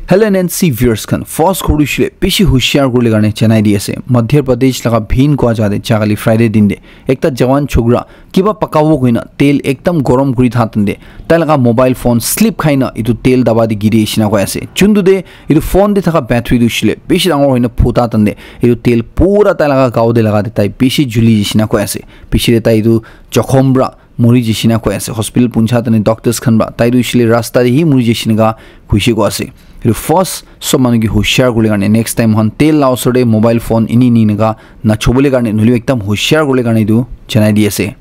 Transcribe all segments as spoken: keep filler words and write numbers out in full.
Hello N N C viewers khan, first khuri shile bishi hushiar kurle karne janai di ase. Madhya Pradesh laga Bhind kua jaga te jagale Friday din de ekta jawan chokra kiba pakabo koina tel ekdam gorom kuri tha tande tai laga mobile phone slip khaina etu tel daba de giri shina koi ase. Chundu de etu phone de thaka battery tu shile bishi dangor hoina phuta tande etu tel pura tai laga gao de laga de tai bishi juli shina koi ase. Bishi de tai etu jokhom bra muri jishina koi ase. Hospital puncha tani doctors khan ba tai tu shile rasta de hi muri jishina ga kuishi ko ase. Etu first sob manu ki hushiar kurle karne next time han tel la osor de mobile phone ini ini naga na chobole karne nuli ekdam hushiar kurle karne etu janai di ase.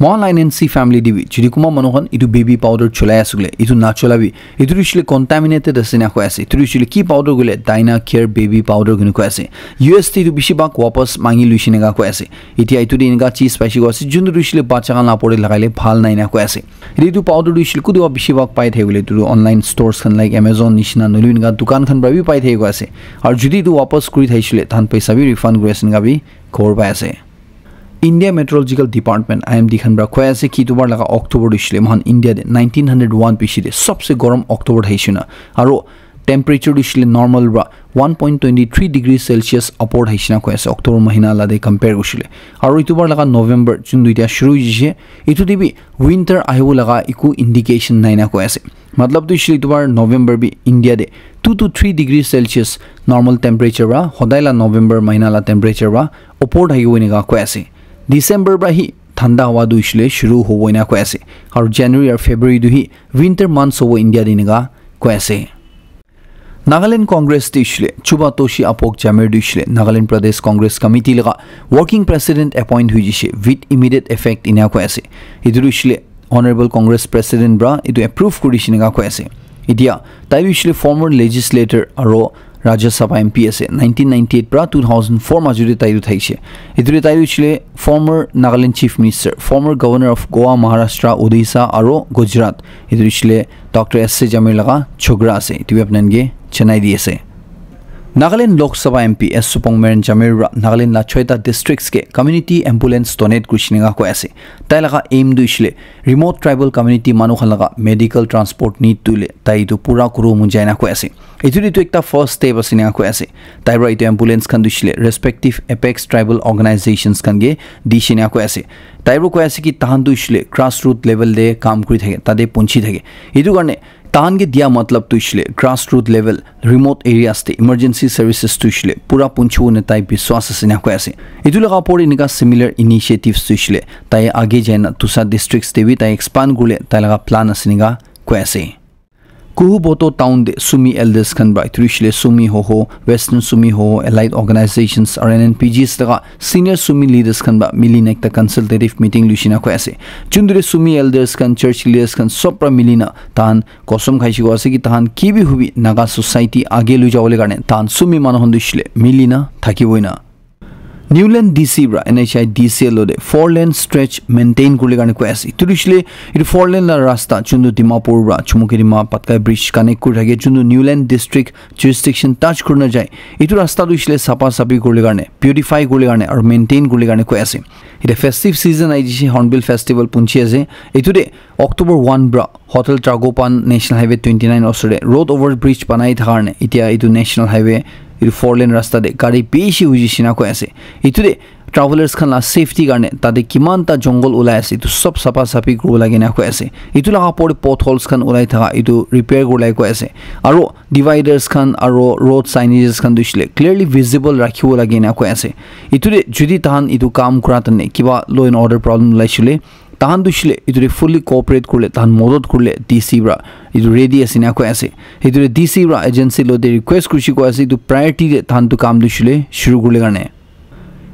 Mohan la N N C family de bi jodi kuma manu khan etu baby powder cholai ase koile etu na chola bi etu tu shile contaminated ase na koi ase. Etu tu shile ki powder koile Dyna Care baby powder koi ase. U S te etu bishi bhag wapas mangi luishe nega koi ase. Etia etu de eneka cheese paishe koi ase, juntu tu hoishe le bacha khan la opor de lagai le bhal nai na koi ase. Etu powder tu hoishe le kutu bishi bhag pai thakibole etu tu online stores khan like Amazon nishina nohoile eneka dukan khan para bi pai thaki koi ase. Aru jodi etu wapas kuri thaishe le tahan paisa bi refund kuri ase eneka bi khobor pai ase. India Meteorological Department, I M D khan para koi ase ki etu bar laga October tu hoishe le mohan India de nineteen hundred one bishi de sobse gorom October thaishe na. Aru temperature tu hoishe le normal para one point twenty three degree Celsius upward haishina koi ase October mahina la de compare kushile. Aru etu bar laga November jun duita shuru hoishe etu de bi winter ahibo laga eku indication nai na koi ase. Matlab tu hoishe etu bar November bi India de two to three degree Celsius normal temperature para hodai la November mahina la temperature para upward thakibo eneka koi ase. December para hi thanda hawa tu hoishe shuru hobo eneka koi ase. Aru January aru February tu hi winter months hobo India de eneka koi ase. Nagaland Congress tu hoishe le Chuba Toshi Apok Jamir tu hoishe le Nagaland Pradesh Congress Committee laga working president appoint hoi jishe with immediate effect ena koi ase. Etu tu hoishe le Honorable Congress President para etu approve kuri dishina koi ase. Etia tai tu hoishe le former legislator aro Rajya Sabha M P ase nineteen ninety-eight para two thousand four majo te tai tu thaishe. Etu te tai tu hoishe le former Nagaland Chief Minister, former Governor of Goa, Maharashtra, Odisha aro Gujarat. Etu hoishe le Doctor S C Jamir laga chokra ase, etu bi apni khan ke janai di ase. Nagaland Lok Sabha M P S Supong Meren Jamir para Nagaland la choita districts ke community ambulance donate kurishe nega koi ase. Tai laga aim tu hoishe le remote tribal community manu khan laga medical transport need tu le tai etu pura kuru mon jai na koi ase. Etu tu ekta first step ase nega koi ase. Tai para etu ambulance khan tu hoishe le respective apex tribal organizations khan ke dishe nega koi ase. Tai para koi ase ki tahan tu hoishe le grassroot level te kam kuri thake, tate punchi thake. Etu karne tahan ke dia matlab tu hoishe le grassroot level remote areas te emergency services tu hoishe le pura punchibo ena tai biswas ase ena koi ase. Etu laga opor te eneka similar initiatives tu hoishe le tai age jai na dusra districts te bi tai expand kurile tai laga plan ase ena koi ase. Kuhuboto town te Sumi elders khan para etu hoishe le Sumi Hoho, Western Sumi Hoho, allied organizations, R N N P Gs laga senior Sumi leaders khan para mili na ekta consultative meeting luishe na koi ase. Juntu te Sumi elders khan, church leaders khan sob para mili na tahan Kostom khaishe koi ase ki tahan ki bi hobi Naga society age lui jabole karne tahan Sumi manu khan tu hoishe le mili na thakibo ena. Newland D C para N H I D C L lo de four lane stretch maintain kurle karne koi ase. Etu tu hoishe le etu four lane la rasta juntu Dimapur para Chumukedima Patkai bridge connect kuri thake juntu Newland district jurisdiction touch kuri na jai. Etu rasta tu hoishe le sapa sapi kurle karne, beautify kurle karne aru maintain kurle karne koi ase. Etia festive season ahi jishe, Hornbill Festival punchi ase. Etu de October one para Hotel Tragopan National Highway twenty nine osor te road over bridge banai thaka karne etia etu National Highway etu four lane rasta te gari bishi huji shina koi ase. Etu te travelers khan la safety karne tate kiman ta jungle ulai ase etu sob sapa sapi kuribo lage na koi ase. Etu laga opor te potholes khan ulai thaka etu repair kuribole koi ase. Aro dividers khan aro road signages khan tu hoishe le clearly visible rakhibo lage na koi ase. Etu te jodi tahan etu kam kura tane kiba law and order problem ulai shile tahan tu hoishe le etu te fully cooperate kurile tahan modot kurile D C para etu ready ase na koi ase. Etu te D C para agency lo te request kurishe koi ase etu priority te tahan tu kam tu hoishe le shuru kurile karne.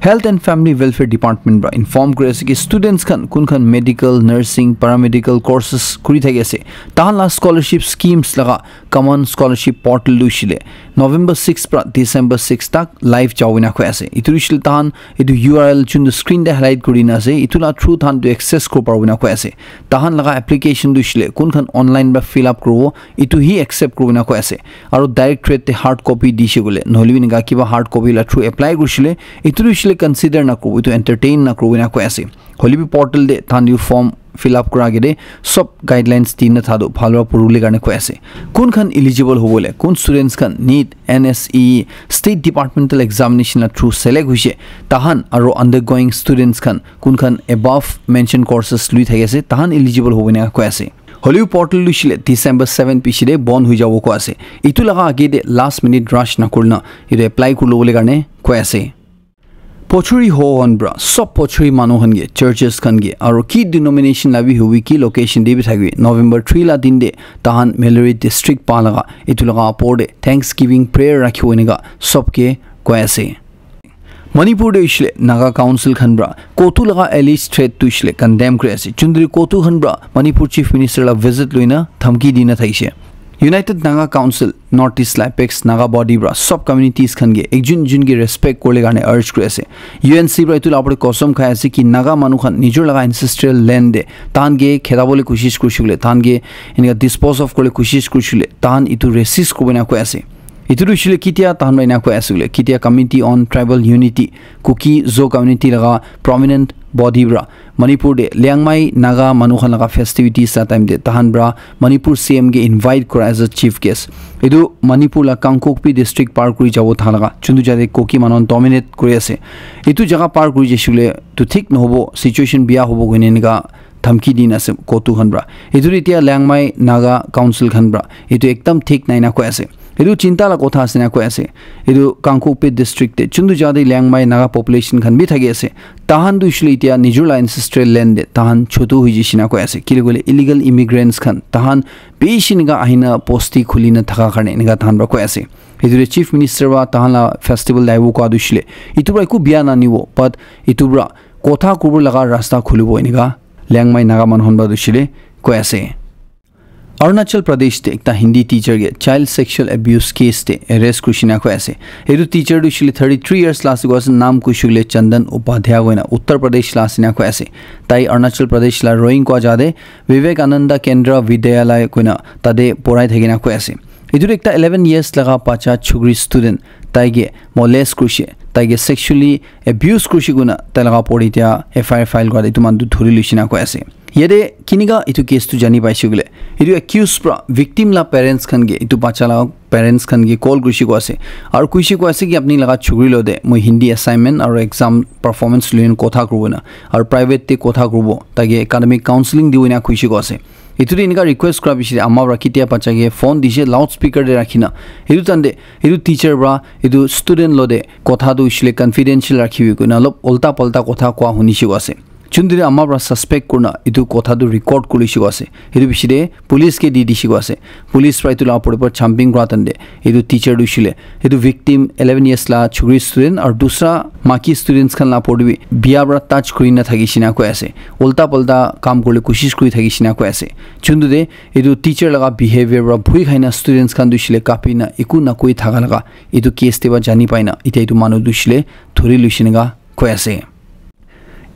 Health and Family Welfare Department para inform kuri ase ki students khan kun khan medical, nursing, paramedical courses kuri thaki ase tahan la scholarship schemes laga common scholarship portal tu hoishe le November six para December six tak live jabo na koi ase. Etu tu hoishe le tahan etu U R L juntu screen te highlight kuri na ase etu la through tahan tu access kuri paribo na koi ase. Tahan laga application tu hoishe le kun khan online para fill up kuribo etu hi accept kuribo na koi ase. Aro directorate te hard copy dishe koile nohoile bi eneka kiba hard copy la through apply kurishe le etu tu hoishe strictly consider na kuribo, etu entertain na kuribo ena koi ase. Hoile bi portal te tahan etu form fill up kura age te sob guidelines di na thado bhal para puribole karne koi ase. Kun khan eligible hobo le, kun students khan NEET, NSE, State Departmental Examination la through select hoise, tahan aro undergoing students khan kun khan above mentioned courses lui thaki ase, tahan eligible hobo ena koi ase. Hoile bi portal tu hoishe le December seven piche te bon hoi jabo koi ase. Etu laga age te last minute rush na kurina etu apply kuri lobole karne koi ase. Pochuri ho hon pra, sob pochuri manu khan ke, churches khan ke, aro ki denomination la bi hobi, ki location te bi thaki, November three la din te tahan Melori district pa laga etu laga apor te Thanksgiving prayer rakhibo enika sob ke koi ase. Manipur te hoishe le Naga Council khan pra COTU laga alleged threat tu hoishe le condemn kuri ase. Chundri COTU khan pra Manipur Chief Minister la visit loina dhamki dina thakishe. United Naga Council, North East la apex Naga body pra sob communities khan ke ekjun ekjun ke respect kuribole karne urge kuri ase. UNC pra etu la opor te kosam khai ase ki Naga manu khan nijor laga ancestral land te tahan ke khetabole koshish kurishe koile, tahan ke enika dispose of kuribole koshish kurishe koile, tahan etu resist kuribo ena koi ase. Etu tu hoishe le ketia tahan pra ena koi ase koile, ketia Committee on Tribal Unity, Kuki Zo community laga prominent body pra Manipur te Liangmai Naga manu khan laga festivities la time te tahan pra Manipur CM ke invite kura as a chief guest. Etu Manipur la Kangpokpi district par kuri jabo thaka laga, chuntu jate Kuki manu khan dominate kuri ase. Etu jaga par kuri jaishe koile tu thik nahobo, situation biya hobo koine enika dhamki dina ase COTU khan pra. Etu tu etia Liangmai Naga Council khan pra etu ekdam thik nai na koi ase. Etu chinta la kotha ase na koi ase. Etu Kangpokpi district te chuntu jaga te Liangmai Naga population khan bi thaki ase. Tahan tu hoishe le etia nijor la ancestral land te tahan chotu hoi jaishe na koi ase. Kile koile illegal immigrants khan tahan bishi enika ahina bosti khulina thaka karne enika tahan pra koi ase. Etu te Chief Minister pra tahan la festival daibo koi tu hoishe le etu pra eku biya nanibo, but etu pra kotha kuribo laga rasta khulibo enika Liangmai Naga manu khan pra tu hoishe le koi ase. Arunachal Pradesh te ekta Hindi teacher ke child sexual abuse case te arrest kurishe na koi ase. Etu teacher tu hoishe le thirty three years la ase koi ase, naam kuishe koile Chandan Upadhyay koina Uttar Pradesh la ase na koi ase. Tai Arunachal Pradesh la Roing koi jaga te Vivekananda Kendra Vidyalaya koina tate porai thaki na koi ase. Etu tu ekta eleven years laga bacha chukri student tai ke molest kurishe, tai ke sexually abuse kurishe koina tai laga opor te etia FIR file kura etu manu tu dhuri loishe na koi ase. Yate kinika etu case tu jani paishe koile, etu accused pra victim la parents khan ke etu bacha la parents khan ke call kurishe koi ase. Aru kuishe koi ase ki apni laga chukri lo te moi Hindi assignment aru exam performance lui kotha kuribo na, aru private te kotha kuribo, tai ke academic counseling dibo ena kuishe koi ase. Etu te enika request kura piche te ama pra ketia bacha ke phone dishe loudspeaker te rakhina. Etu time te etu teacher pra etu student lo te kotha tu hoishe le confidential rakhibi koina olop ulta palta kotha koa hunishe koi ase. Chundri ama pra suspect kurina etu kotha tu record kurishe koi ase. Etu piche te police ke di dishe koi ase. Police pra etu la opor te pra chambing kura time te etu teacher tu hoishe le etu victim eleven years la chukri student aru dusra maki students khan la opor te bi biya pra touch kurina thakishe na koi ase. Ulta palta kam kuribole koshish kuri thakishe na koi ase. Chuntu te etu teacher laga behavior pra bhoi khaina students khan tu hoishe le kapi na eku na koi thaka laga etu case te pra jani paina etia etu manu tu hoishe le dhuri loishe enika koi ase.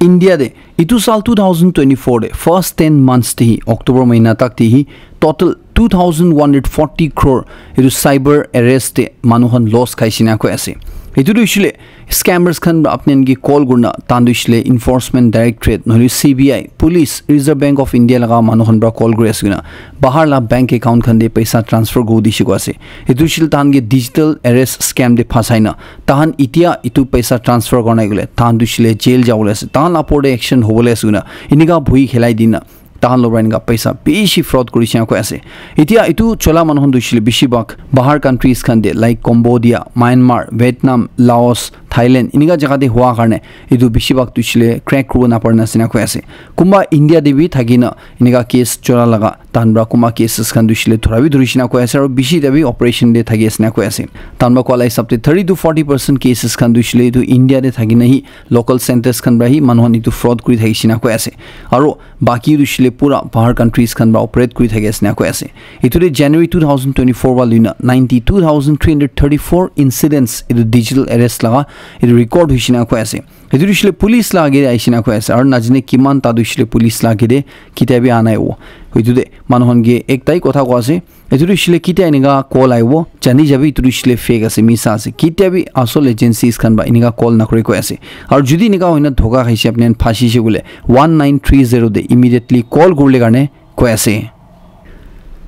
India te etu saal two thousand twenty-four te first ten months te hi, October mahina tak te hi, total two thousand one hundred forty crore etu cyber arrest te manu khan loss khaishe na koi ase. Etu tu hoishe le scammers khan pra apni khan ke call kurina tahan tu hoishe le Enforcement Directorate nohole CBI, Police, Reserve Bank of India laga manu khan pra call kuri ase koina bahar la bank account khan te paisa transfer kuri dishe koi ase. Etu hoishe le tahan ke digital arrest scam te phasai na tahan etia etu paisa transfer kora nai koile tahan tu hoishe le jail jabole ase, tahan la opor te action hobole ase koina enika bhoi khelai dina tahan lo pra enika paisa bishi fraud kurishe na koi ase. Etia etu chola manu khan tu hoishe le bishi bhag bahar countries khan te like Cambodia, Myanmar, Vietnam, Laos, Thailand enika jaga te hua karne etu bishi bhag tu hoishe le crack kuribo napara na ase na koi ase. Kunba India te bi thakina enika case chola laga tahan pra kunba cases khan tu hoishe le dhura bi dhurishe na koi ase aru bishi ta bi operation te thaki ase na koi ase. Tahan pra koa la hisab te thirty to forty percent cases khan tu hoishe le etu India te thakina hi local centres khan pra hi manu khan etu fraud kuri thakishe na koi ase. Aru baki tu hoishe le pura bahar countries khan pra operate kuri thaki ase na koi ase. Etu te January two thousand twenty-four pra luina ninety-two thousand three hundred thirty-four incidents etu digital arrest laga etu record hoishe na koi ase. Etu tu hoishe le police la age te ahishe na koi ase. Aru najane kiman ta tu hoishe le police la age te kitia bi aha nai hobo. Etu te manu khan ke ektai kotha koi ase. Etu tu hoishe le kitia enika call ahibo, jani jabi etu tu hoishe le fake ase, misa ase. Kitia bi asol agencies khan para enika call nakuri koi ase. Aru jodi enika hoina dhoka khaishe, apni khan phasishe koile, one nine three zero te immediately call kurile karne koi ase.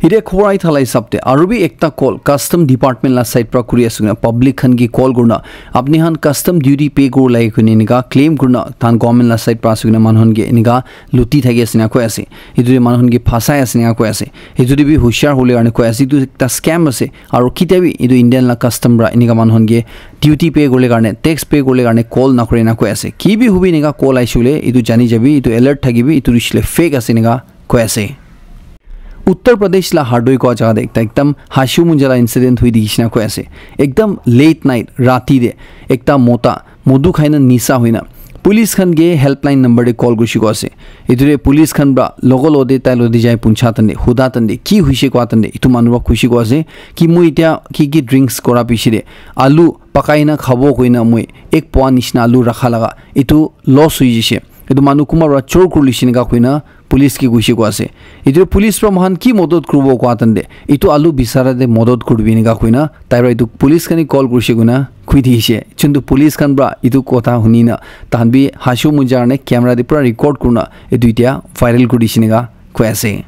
Etia khobor ahi thala hisab te aru bi ekta call custom department la side para kuri ase koina, public khan ke call kurina, apni khan custom duty pay kuribo lage koina enika claim kurina, tahan government la side para ase koina manu khan ke enika luti thaki ase na koi ase. Etu te manu khan ke phasai ase na koi ase. Etu te bi hushiar hole karne koi ase. Etu ekta scam ase. Aru kitia bi etu Indian la custom para enika manu khan ke duty pay kurile karne, tax pay kurile karne call nakuri na koi ase. Ki bi hobi enika call ahishe koile, etu jani jabi, etu alert thakibi, etu tu hoishe le fake ase enika koi ase. Uttar Pradesh la Hardoi kua jaga te ekta ekdam hashu munja la incident hui dikhi shina koi ase. Ekdam late night, rati te ekta mota modu khaina nisa hoina police khan ke helpline number te call kurishe koi ase. Etu te police khan para logo logo te tai logo te jai puncha tande, huda tande, ki hoishe koi tande, etu manu para kurishe koi ase ki moi etia ki ki drinks kora piche te alu pakai na khabo koina moi ek poa nishina alu rakha laga etu loss hoi jaise. Etu manu kunba para chor kuri lise enika koina police ke koishe koi ase. Etu police para moikhan ki modot kuribo koi tande, etu alu bisara te modot kuribi enika koina tai para etu police khan ke call kurishe koina koi dikhi se. Chuntu police khan para etu kotha huni na tahan bi hashu munja karne camera te pura record kurina etu etia viral kuri dise enika koi ase.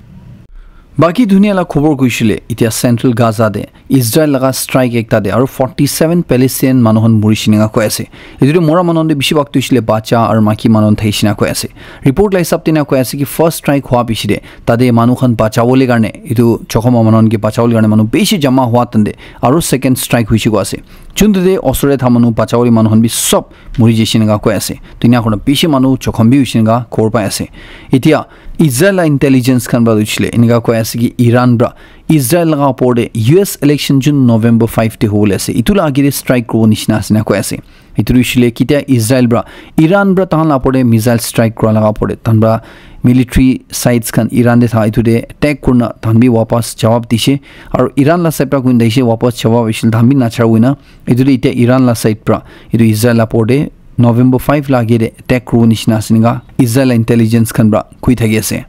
Baki dunia la khobor koishe le, etia Central Gaza te Israel laga strike ekta te aru forty seven Palestinian manu khan murishe enika koi ase. Etu te mora manu khan te bishi bhag tu hoishe le bacha aru maiki manu khan thakishe enika koi ase. Report la hisab te enika koi ase ki first strike hua piche te tate manu khan bachabole karne, etu jokhom hua manu khan ke bachabole karne manu bishi jama hua tande aru second strike hoishe koi ase. Chuntu te osor te tha manu bachabole manu khan bi sob muri jaise enika koi ase. To enika kurina bishi manu jokhom bi hoishe enika khobor pai ase. Etia Israel la intelligence khan para hoishe le enika koi ase ki Iran para Israel laga opor te U S election June November five te hobole ase, etu la age te strike kuribo nishina ase enika koi ase. Etu tu hoishe le kitia Israel para Iran para tahan la opor te missile strike kura laga opor te tahan para military sites khan Iran te tha etu te attack kurina tahan bi wapas jawab dise. Aru Iran la side para koina dise wapas jawab hoishe le tahan bi nachar hoina etu te etia Iran la side para etu Israel la opor te November five la age te attack kuribo nishina ase enika Israel la intelligence khan para koi thaki ase.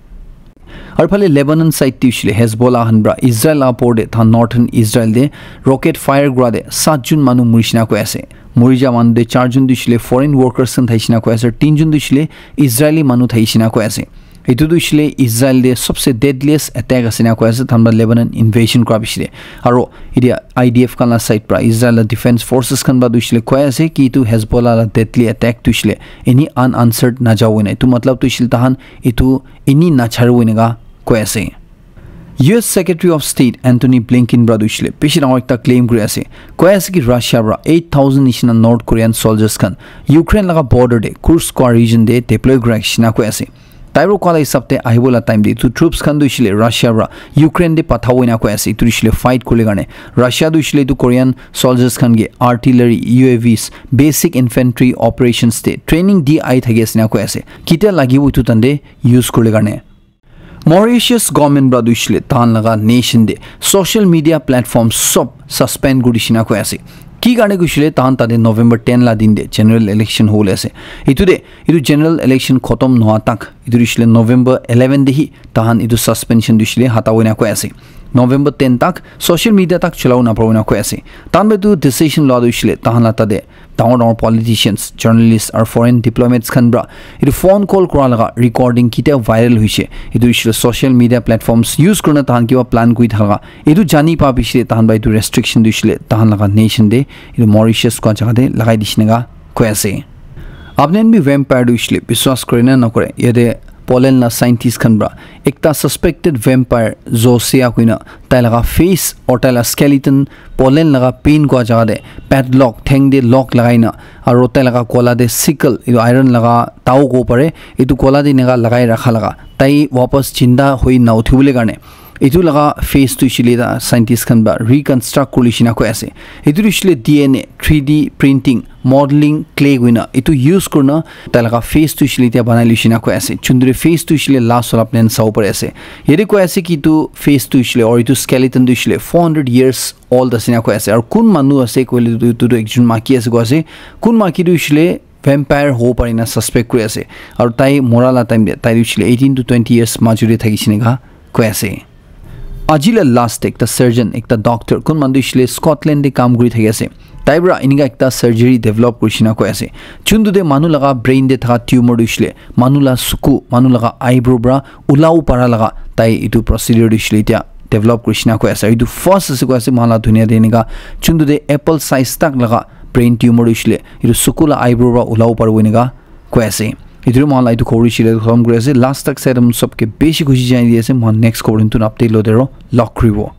Aru phale Lebanon side te hoishe le Hezbollah khan para Israel la opor te tahan northern Israel te rocket fire kura te sat jun manu murishe enika koi ase. Muri ja manu te char jun tu hoishe le foreign workers khan thakishe enika koi ase, tin jun tu hoishe le Israeli manu thakishe enika koi ase. Etu tu hoishe le Israel te sobse deadliest attack ase enika koi ase, tahan para Lebanon invasion kura piche te. Aru etia I D F khan la side para Israel la defense forces khan para tu hoishe le koi ase ki etu Hezbollah la deadly attack tu hoishe le eni unanswered najabo enika. Etu matlab tu hoishe le tahan etu eni nacharibo enika koi ase. U S Secretary of State Antony Blinken para tu hoishe le bishi dangor ekta claim kuri ase. Koi ase ki Russia para eight thousand nishina North Korean soldiers khan Ukraine laga border te Kursk kua region te deploy kura nishina koi ase. Tai para kua la hisab te ahibo la time te etu troops khan tu hoishe le Russia para Ukraine te pathabo enika koi ase. Etu tu hoishe le fight kuribole karne Russia tu hoishe le etu Korean soldiers khan ke artillery, U A Vs, basic infantry operations te training di ahi thaki ase enika koi ase. Kitia lagibo etu tande use kuribole karne. Mauritius government para tu hoishe le tahan laga nation te social media platform sob suspend kuri dise enika koi ase. Ki karne koishe le tahan tate November ten la din te general election hobole ase. Etu te etu general election khotom nohoa tak etu hoishe le November eleven te hi tahan etu suspension tu hoishe le hatabo enika koi ase. November ten tak social media tak cholabo naparibo enika koi ase. Tahan para etu decision loa tu hoishe le tahan la tate dangor dangor politicians, journalists aru foreign diplomats khan para etu phone call kura laga recording kitia viral hoishe, etu hoishe le social media platforms use kurina tahan kiba plan kuri thaka laga etu jani pa piche te tahan para etu restriction tu hoishe le tahan laga nation te etu Mauritius kua jaga te lagai dise enika koi ase. Apni khan bi vampire tu hoishe le biswas kore na nakore, yate Poland la scientist khan para ekta suspected vampire Zosia koina tai laga face or tai la skeleton Poland laga Pin kua jaga te padlock, theng te lock lagai na, aru tai laga gola te sickle, etu iron laga tao kobo pare, etu gola te enika lagai rakha laga, tai wapas jinda hoi na uthibole karne Etu laga face tu hoishe le ta scientist khan para reconstruct kuri shina koi ase. Etu tu hoishe le D N A, three D printing, modeling, clay koina etu use kurina tai laga face tu hoishe le tia banai le shina koi ase. Chundure face tu hoishe le last wala plan sabo pari ase. Yate koi ase ki etu face tu hoishe le or etu skeleton tu hoishe le four hundred years old ase na koi ase. Aru kun manu ase koile tu, tu, tu ekjon maki ase koi ase. Kun maki tu hoishe le vampire hobo pare na suspect kuri ase. Aru tai mora la time te tai tu hoishe le eighteen to twenty years major te thakishe neka koi ase. Aji la last te ekta surgeon, ekta doctor, kun manu tu hoishe le Scotland te kam kuri thaki ase. Tai para enika ekta surgery develop kuri shina koi ase. Chuntu te manu laga brain te thaka tumor tu hoishe le manu la suku, manu laga eyebrow para ulabo para laga tai etu procedure tu hoishe le tia develop kuri shina koi ase. Etu first ase koi ase, moikhan la dunia te enika chuntu te apple size tak laga brain tumor tu hoishe le etu suku la eyebrow para ulabo paribo enika koi ase. Etu moikhan la etu khobor hoishe le khatam kuri ase. Last tak sai sob ke bishi khushi janai di ase. Moikhan next khobor tun update lote aro log kuribo.